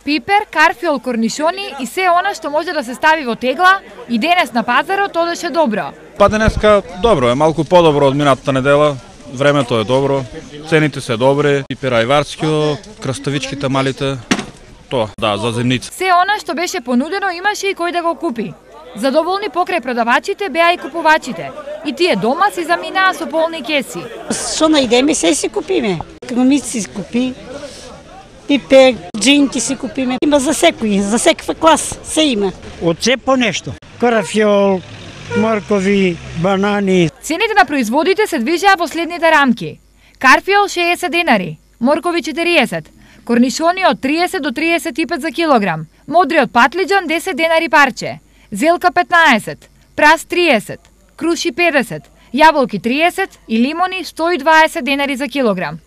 Пипер, карфиол, корнишони и се она што може да се стави во тегла и денес на пазарот одеше добро. Па денеска добро е, малку подобро од минатата недела. Времето е добро, цените се добри, пипер ајварскио, краставичките малите, тоа, да, за земница. Се она што беше понудено имаше и кој да го купи. Задоволни покрај продавачите беа и купувачите. И тие дома си заминаа со полни кеси. Што најдеме се си купиме. Крумици си купи, пипер, джинки си купиме. Има за секој, за секва клас, се има. Од се по нешто. Карафиол, моркови, банани. Цените на производите се движеа во следните рамки. Карфиол 60 денари, моркови 40, корнишони од 30 до 35 за килограм, модриот патлиџан 10 денари парче, зелка 15, прас 30, круши 50, јаболки 30 и лимони 120 денари за килограм.